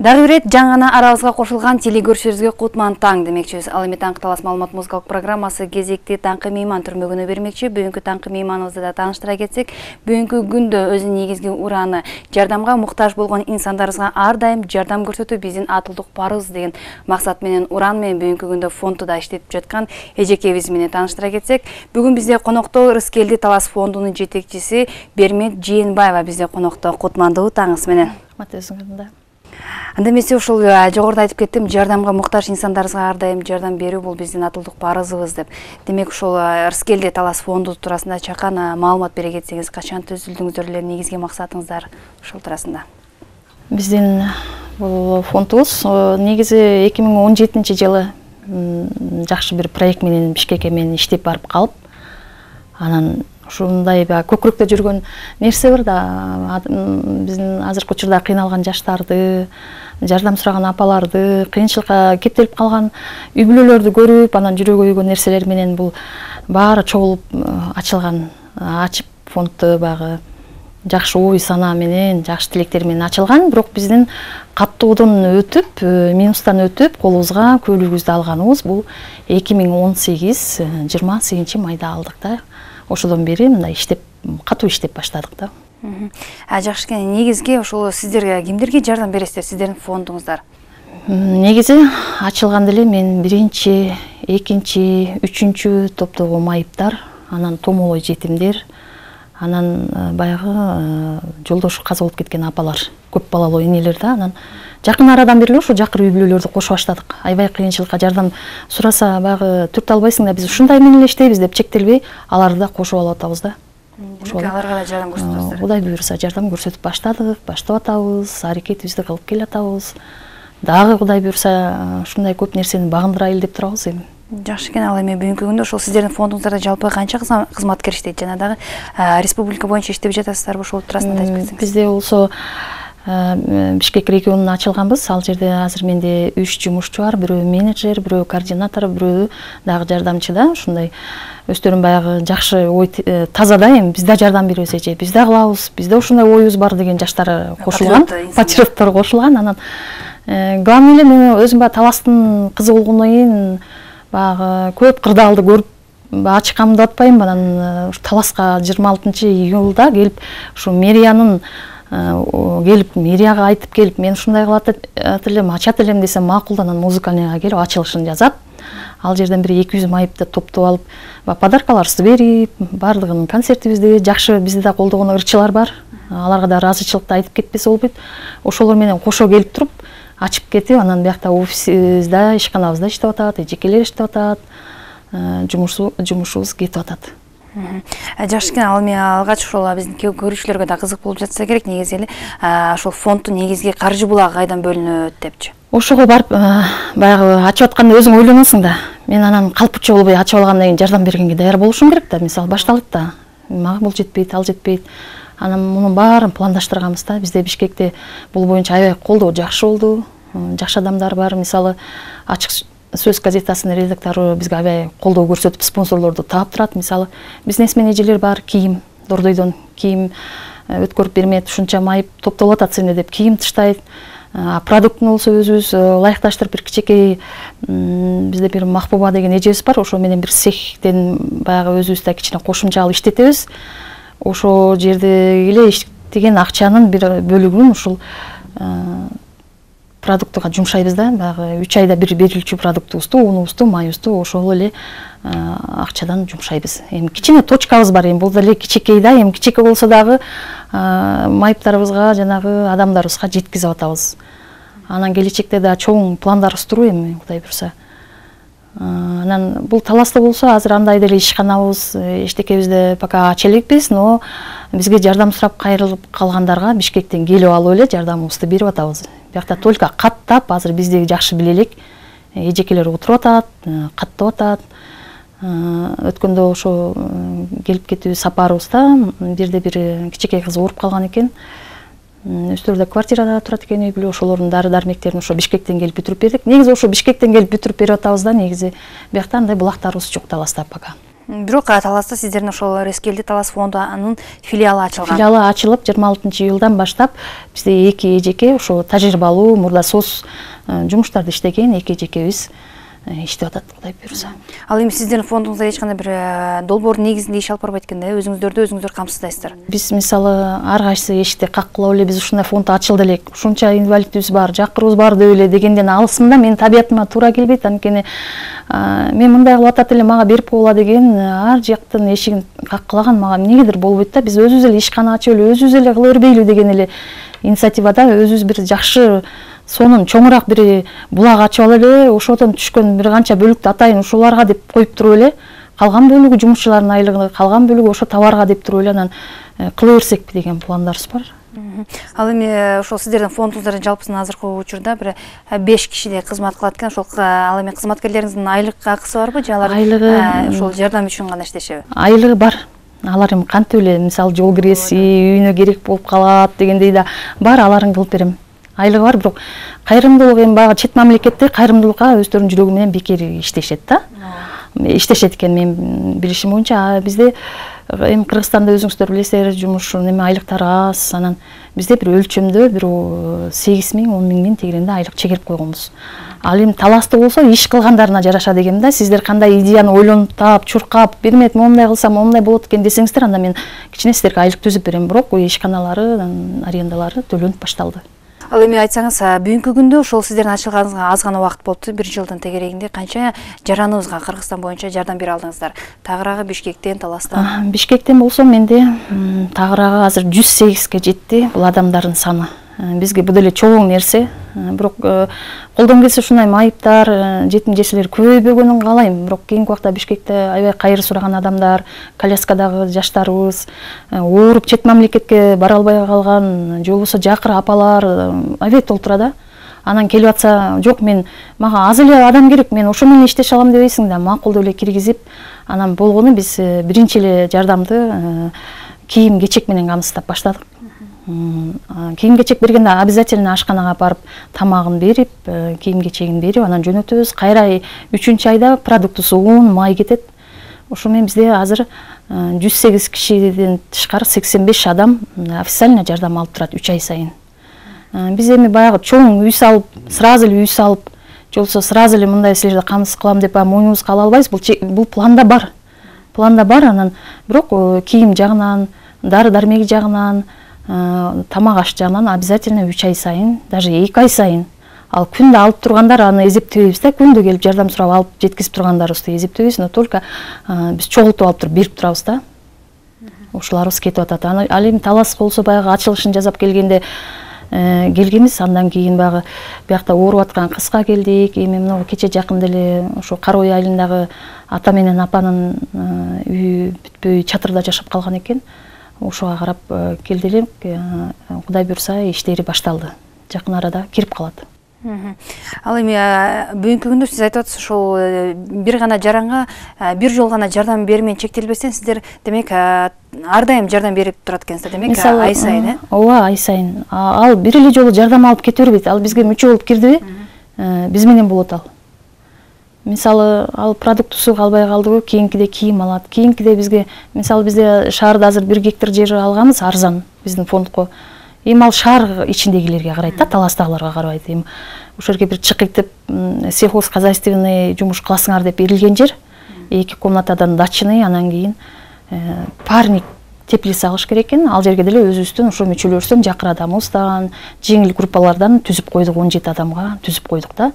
Дагы бир жаңы арабызга кошулган телекөрүүчүлөрүбүзгө кутман таң демекчибиз. Ал эми таңкы талас маалымат музыкалык программасы кезекти таңкы мейман түрмөгүнө бермекчи. Бүгүнкү таңкы мейманыбызды да тааныштыра кетсек, бүгүнкү күндө өзүнүн негизги ураны жардамга муктаж болгон инсандарыбызга ар дайым жардам көрсөтүү биздин атылдык парыз деген максат менен уран менен бүгүнкү күндө фонду да иштеп жаткан эжекебиз менен тааныштыра кетсек, бүгүн бизде конокто Рыскелди Талас фондунун жетекчиси Бермет Жээнбаева бизде конокто. Кутмандуу таңыңыз менен. Матезиңизде. Анда эмесе ушул жогоруда айтып кеттим, жардамга муктаж инсандарыбызга ар дайым жардам берүү бул биздин атылдык парызыбыз деп. Демек ушул Рыскелди Талас фонду туурасында чакан маалымат бере кетсеңиз, качан түзүлдүңүздөр эле, негизги максатыңыздар ушул туурасында? Биздин бул фондубуз негизи 2017-жылы жакшы бир проект менен Бишкекке мен иштеп барып калып, анан ушундай көкүрөктө жүргөн нерсе бар да, биздин азыркы учурда кыйналган жаштарды, жардам сураган апаларды, кыйынчылыкка кептелип калган үй бүлөлөрдү көрүп, анан жүрөгү өйгөн нерселер менен бул баары чогулуп ачып фондду багы жакшы ой санаа менен, жакшы тилектер менен ачылган, бирок биздин каттоодон өтүп, минустан өтүп, колубузга көйлөгүбүздү алганыбыз бул 2018-28 майда алдык да. Ошодон бери мындай иштеп, катуу иштеп баштадык да. Жакшы экен. Негизги ошол сиздер кимдерге жардам бересиздер, сиздердин фондуңуздар? Негизи ачылганда эле мен 1-2, 3 топтогу майыптар, анан томолой жетимдер, анан баягы жолдошу каза болуп кеткен апалар, көп балалуу энелер да, анан жакын арадан бери ошо жакыр үй бүлөлөрдү кошуп баштадык. Аябай кыйынчылыкка жардам сураса, баягы түрт албайсың да, биз ушундай менен эле иштейбиз деп чектелбей, аларды да кошуп алып атабыз да. Аларга да жардам көрсөтөсүздөр. Кудай буйруса жардам көрсөтүп баштадык, баштап атабыз, аракетибизди кылып келатабыз. Дагы Кудай буйруса ушундай көп нерсени багындырайлы деп турабыз эми. Жакшы экен. Ал эми бүгүнкү күндө ошол сиздердин фондуңуздарда жалпы канча кызматкер иштейт? Жана дагы республика боюнча иштеп жатасыздарбы? Ошол туурасында айтып кетсеңиз. Бизде болсо Бишкек регионуна ачылганбыз. Ал жерде азыр менде 3 жумушчу бар, бирөө менеджер, бирөө координатор, бирөө дагы жардамчы да. Ушундай өздөрүн баягы жакшы ой таза да, эми биз да жардам беребиз эже, биз да кылабыз, бизде ушундай оюбуз бар деген жаштар кошулган, патриоттор кошулган. Анан главный эле мен өзүм баягы Таластын кызы болгондон кийин баягы көп кырдаалды көрүп ачыкканымды атпайм. Анан Таласка 26-июлда келип, ушу мэриянын келип, мэрияга айтып келип, мен ушундай кылат элем, ачат элем десем макул, анан музыкальныйга келип ачылышын жазат. Ал жерден бир 200 майыпты топтоп алып, подаркаларыбызды берип, бардыгын концертибизди жакшы бизди да колдогон ырчылар бар. Аларга да ыраазычылыкты айтып кетпесе болбойт. Ошолор менен кошо келип туруп, ачып кетип, анан биякта офисибизде, ишканабызда иштеп атат, эжекелер иштеп атат, жумушубуз кетип атат. Жакшы экен. Ал эми алгач ошол биздин көрүүчүлөргө да кызык болуп жатса керек, негизи эле ошол фонддун негизги каржы булагы кайдан бөлүнөт депчи. Ошого барып баягы ачып атканда өзүң ойлоносуң да. Мен анан калпыча болбой ачып алгандан кийин жардам бергенге даяр болушум керек да. Мисалы башталат да. Мага бул жетпейт, ал жетпейт. Анан мунун баарын пландаштырганбыз да. Бизде Бишкекте бул боюнча аябай колдоо жакшы болду. Жакшы адамдар бар. Мисалы Ачык сөз газетасынын редактору бизге аябай колдоо көрсөтүп, спонсорлорду таап турат. Мисалы бизнесмен эжелер бар, кийим, Дордойдон кийим өткөрүп бермет, ушунча майып топтолуп атат сени деп кийим тыштайт. Продуктун болсо өзүбүз ылайыкташтырып бир кичинекей, бизде бир Махбуба деген эжебиз бар, ошо менен бир цехтен баягы өзүбүз да кичине кошумча алып иштетебиз. Ошо жерде эле иштеген акчанын бир бөлүгүн ушул продуктуга жумшайбыз да. Баягы 3 айда бир берилчү продуктубузду, унубузду, майыбызду ошол эле акчадан жумшайбыз. Эми кичине точкабыз бар, эми бул деле кичинекей да, эми кичинекей болсо дагы майыптарыбызга, жанагы адамдарыбызга жеткизип атабыз. Анан келечекте да чоң пландарыбыз туруп эми Кудай буйруса. Анан бул Таласта болсо азыр андай деле ишканабыз, эчтекебизди пока ача элекпиз, но бизге жардам сурап кайрылып калгандарга Бишкектен келип алып эле жардамыбызды берип атабыз. Биякта только каттап, азыр бизди жакшы биле элек эжекелер отуруп атат, каттап атат. Өткөндө ошо келип кетүү сапарыбызда бирде бир кичинекей кыз ооруп калган экен. Өздөрү да квартирада турат экен, үй бүлө, ошолордун дары дармектерин ошо Бишкектен келип бүтүрүп бердик. Негизи ошо Бишкектен келип бүтүрүп берип атабыз да, негизи биякта андай булактарыбыз жок Таласта пока. Бирок Таласта сиздердин ошол Рескелди Талас фондунун филиалы ачылган. Филиалы ачылып 26-июлдан баштап бизде эки эжеке ошо тажрыйбалуу мурда соц жумуштарды иштеген эки эжекебиз иштеп атат, Кудай буйруса. Ал эми сиздердин фондуңузда эч кандай бир долбоор негизинде иш алып барбайт экен да, өзүңүздөр камсыздайсыздар. Биз мисалы ар кайсы эшикти каккылап эле биз ушундай фонд ачылды элек, ушунча инвалидибиз бар, жакырыбыз бар деп эле дегенден алысмын да, менин табиятыма туура келбейт. Анткени мен мындай кылып атат эле, мага берип койгула деген ар жактын эшигин каккылаган мага эмнегедир болбойт да. Биз өзүбүз эле ишкана ачып эле өзүбүз эле кыла бербейлү деген эле инициативада өзүбүз бир жакшы сонун чоңураак бир булак ачып алып эле, ошодон түшкөн бир канча бөлүктү атайын ушуларга деп коюп туруп эле, калган бөлүгү жумушчулардын айлыгы, калган бөлүгү ошо товарга деп туруп эле анан кыла берсекпи деген пландарыбыз бар. Ал эми ошол сиздердин фондуңуздар жалпысынан азыркы учурда бир 5 кишидей кызмат кылат экен. Ошол ал эми кызматкерлериңиздин айлык акысы барбы же алар ошол жардам үчүн гана иштешеби? Айлыгы бар. Алар эми кантип эле мисалы жол киреси, үйүнө керек болуп калат дегендей да бар, аларын кылып берем. Айлыгы бар, бирок кайрымдуулук эми баягы чет мамлекетте кайрымдуулукка өздөрүнүн жүрөгү менен бекер иштешет да. Иштешет экен менин билишим боюнча. Бизде эми Кыргызстанда өзүңүздөр билесиздер, жумуштун эми айлыктары аз. Анан бизде бир өлчөмдө бир 8.000, 10.000 тегеренде айлык чегерип койгонбуз. Ал эми Таласта болсо иш кылгандарына жараша дегем да. Сиздер кандай идеяны ойлонуп таап, чуркап, бермет, моундай кылсам моундай болот экен десеңиздер, анда мен кичине сиздерге айлык түзүп берем. Бирок ишканалары, арендалары төлөнүп башталды. Ал эми айтсаңыз, бүгүнкү күндө ошол сиздердин ачылганыңызга аз гана убакыт болупту, 1 жылдын тегерегинде канча жараныбызга Кыргызстан боюнча жардам бере алдыңыздар? Тагыраагы Бишкектен, Таластан? Бишкектен болсо менде тагыраагы азыр 108ге жетти бул адамдардын саны. Бизге бул деле чоң нерсе. Бирок колдон келсе ушундай майыптар, жетим жесирлер көбөйбөгөнүн каалайм. Бирок кийинки убакта Бишкекте аябай кайыр сураган адамдар, коляскадагы жаштарыбыз, ооруп чет мамлекетке бара албай калган, же болбосо жакыр апалар аябай толтура да. Анан келип атса, жок мен мага аз эле адам керек, мен ошо менен иштеше алам дебейсиң да, макул деп эле киргизип, анан болгону биз биринчи эле жардамды кийим-кечек менен камсыздап баштадык. Кийим-кечек бергенде обязательно ашканага барып тамагын берип, кийим-кечегин берип, анан жөнөтөбүз. Кайра 3-чү айда продуктусу ун, май кетет. Ошо менен бизде азыр 108 кишиден тышкары 85 адам официально жардам алып турат 3 ай сайын. Биз эми баягы чоң үй салып, сразу эле үй салып, же болбосо сразу эле мындай силерди камсыз кылам деп мойнубузга ала албайбыз. Бул планда бар. Планда бар, анан бирок кийим жагынан, дары-дармеги жагынан, тамак аш жагынан обязательно 3 ай сайын, даже 2 ай сайын. Ал күндө алып тургандар аны эзептебейбиз да, күндө келип жардам сурап алып жеткизип тургандарыбызды эзептебейбиз, но только биз чогултуп алып туруп берип турабыз да. Ошолорубуз кетип атат. Ал эми Талас болсо баягы ачылышын жасап келгенде келгенбиз, андан кийин баягы биякта ооруп аткан кызга келдик. Эми мына кече жакында эле ошо Кара Ой айылындагы ата менен апанын үйү бүтпөй чатырда жашап калган экен. Ошого карап келди элек, Кудай буйруса иштери башталды. Жакын арада кирип калат. Ал эми бүгүнкү күндө сиз айтып атасыз, ошол бир гана жаранга бир жол гана жардам берүү менен чектелбестен сиздер демек ар дайым жардам берип турат экенсиздер, демек ай сайын, ооба, ай сайын. Ал бир эле жолу жардам алып кете бербейт. Ал бизге мүчө болуп кирдиби, биз менен болот ал. Мисалы, ал продуктусу калбай калдыбы, кийинкиде кийим алат. Кийинкиде бизге, мисалы, бизде шаарда азыр 1 гектар жер алганбыз, арзан биздин фондко. Эми ал шаар ичиндегилерге карайт да, Таластагыларга карабайт. Эми ошол жерге бир чыкыйтып сельхозхозяйственный жумуш кыласыңар деп берилген жер. 2 комнатадан дачный, анан кийин парник теплица алыш керек экен. Ал жерге деле өзүбүздүн ошо мүчөлөрүбүздөн жакыр адамыбыздан, жеңил группалардан түзүп койдук, 17 адамга түзүп койдук да.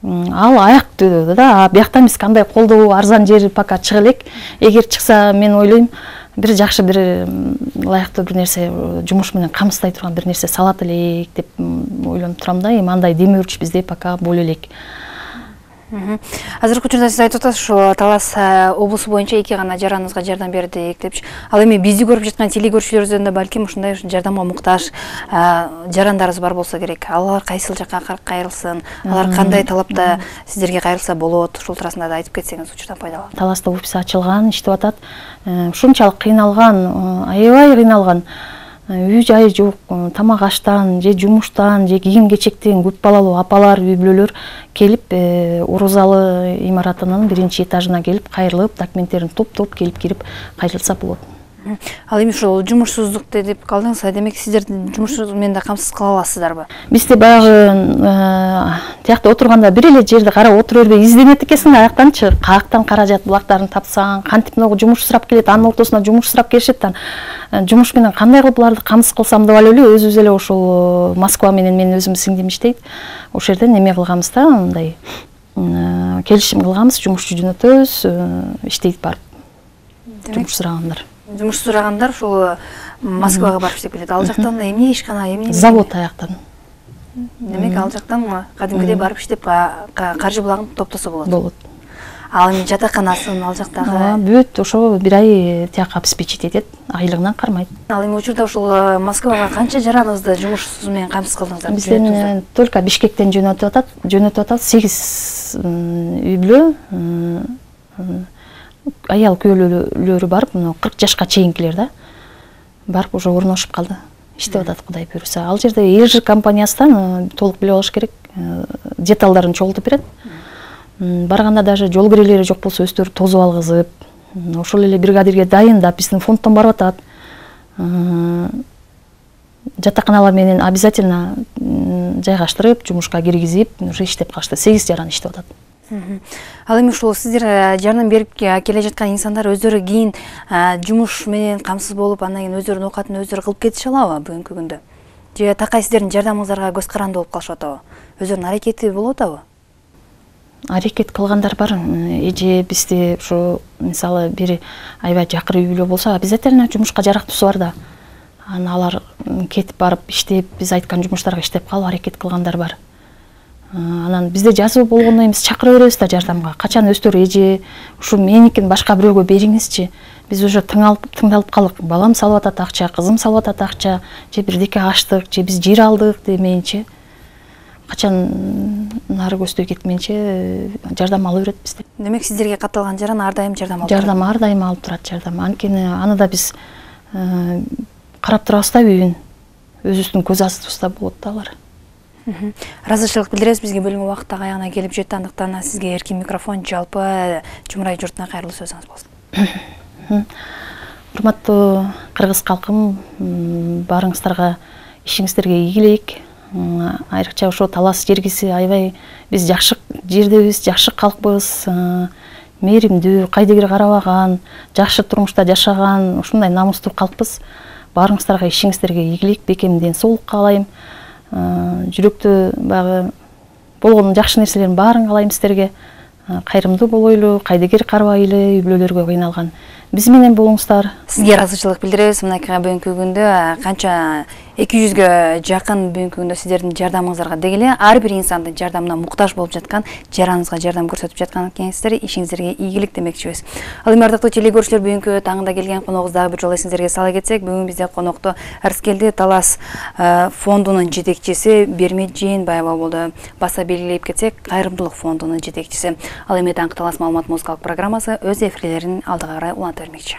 Ал аяк да, бияктан биз кандай колдоо арзан жер пока чыга элек. Эгер чыкса, мен ойлойм, бир жакшы бир ылайыктуу бир нерсе, жумуш менен камсыздай турган бир нерсе салат элек деп ойлонуп турам да. Эми андай демөөрчү бизде пока боло элек. Азыркы учурда сиз айтып атасыз, ошо Талас облусу боюнча 2 гана жараныбызга жардам бердик депчи. Ал эми бизди көрүп жаткан телекөрүүчүлөрүбүздөн да балким ушундай жардамга муктаж жарандарыбыз бар болсо керек. Алар кайсыл жакка кайрылсын, алар кандай талапта сиздерге кайрылса болот, ушул туурасында да айтып кетсеңиз учурдан пайдаланып. Таласта офис ачылган, иштеп атат. Ушунчалык кыйналган, аябай кыйналган. үй жайы жок, тамак аштан же жумуштан же кийим кечектен көп балалуу апалар, үй бүлөлөр келип ору залы имаратынын 1-этажына келип кайрылып, документтерин топтоп келип кирип кайрылса болот. Ал эми ушул жумушсуздук деп калдыңыз, демек сиздер жумуш менен да камсыз кыла аласыздарбы? Бизде баягы тиякта отурганда бир эле жерди карап отура бербей изденет экенсиң, аяктанчы каяктан каражат булактарын тапсаң, кантип могу жумуш сурап келет, анын ортосуна жумуш сурап келишет, жумуш менен кандай кылып буларды камсыз кылсам деп эле өзүбүз эле ошол Москва менен менин өзүмдүн сиңдим иштейт. Ошол жерден эме кылганбыз да, мындай келишим кылганбыз, жумушчу жөнөтөбүз, иштейт барып. Жумуш сурагандар. Жумуш сурагандар ушул Москвага барып иштеп келет. Ал жактан эмне ишкана, эмне? Завод аяктан. Демек ал жактан кадимкидей барып иштеп каржы булагын топтосо болот. Болот. Ал эми жатаканасын ал жактагы бүт ошо бир ай тияка обеспечить этет, айлыгынан кармайт. Ал эми учурда ушул Москвага канча жараныңызды жумуш менен камсыз кылдыңыздар? Бизден только Бишкектен жөнөтүп атат 8 үй бүлө, аял күйөөлөрү барып, 40 жашка чейинкилер да, барып уже орношуп калды. Иштеп атат, Кудай буйруса. Ал жерде ЭЖ компаниясынан толук билип алыш керек, деталдарын чогултуп берет. Барганда даже жол кирелери жок болсо өздөрү тозуп алгызып, ошол эле бригадирге дайындап, биздин фонддон барып атат. Жатаканалар менен обязательно жайгаштырып, жумушка киргизип, уже иштеп калышты. 8 жаран иштеп атат. Ал эми ушул сиздер жардам берип келе жаткан инсандар өздөрү кийин жумуш менен камсыз болуп, андан кийин өздөрүнүн оокатын өздөрү кылып кетише алабы бүгүнкү күндө? Же такай сиздердин жардамыңыздарга көз каранды болуп калышып атабы? Өздөрүнүн аракети болуп атабы? Аракет кылгандар бар. Эже бизде ушу мисалы бир аябай жакыр үй бүлө болсо, обязательно жумушка жарактуусу бар да. Алар кетип барып иштеп, биз айткан жумуштарга иштеп калып аракет кылгандар бар. Анан бизде жазуу болгондо эмес, чакыра беребиз да жардамга. Качан өстөр эже ушу меникин башка бирөөгө бериңизчи. Биз уже тыңдалып калдык. Балам салып атат акча, кызым салып атат акча, же бирдеке аштык, же биз жер алдык демейинчи. Качан нары көздөй кетмейинче жардам ала берет бизде. Демек сиздерге катталган жаран ар дайым жардам алып турат. Жардам ар дайым алып турат жардам. Анткени аны да биз карап турабыз да үйүн. Өзүбүздүн көз астыбызда болот да алар. Ыраазычылык билдиребиз, бизге бөлүнгөн вакыт аягына келип жетти, андыктан сизге эркин микрофон жалпы Жумурай журтуна кайрылуу сөзүңүз болсун. Урматтуу кыргыз калкым, баарыңыздарга ишиңиздерге ийгилик. Айрыкча ошо Талас жергиси аябай биз жакшы жердебиз, жакшы калкпыз, мээримдүү, кайдыгер карабаган, жакшы турмушта жашаган, ушундай намустуу калкпыз. Баарыңыздарга ишиңиздерге ийгилик, бекемден соолук каалайм. Жүрөктө баягы болгон жакшы нерселердин баарын каалайм сиздерге. Кайрымдуу болойлу, кайдыгер карабайлы, үй бүлөлөргө кыйналган биз менен болуңуздар. Сизге ыраазычылык билдиребиз. Мынакей бүгүнкү күндө канча 200гө жакын бүгүнкү күндө сиздердин жардамыңыздарга деги эле ар бир инсандын жардамына муктаж болуп жаткан, жараныңызга жардам көрсөтүп жаткан экенсиздер. Ишиңиздерге ийгилик демекчибиз. Ал эми ардактуу телекөрүүчүлөр, бүгүнкү таңда келген коногубузду дагы бир жолу эсиңиздерге сала кетсек, бүгүн бизде конокто Арскелди Талас фондунун жетекчиси Бермеджин Баева болду. Баса белгилеп кетсек, кайрымдуулук фондунун жетекчиси. Ал эми таңкы Талас маалымат музыкалык программасы өз эфирлерин алдыга карай уланта бермекчи.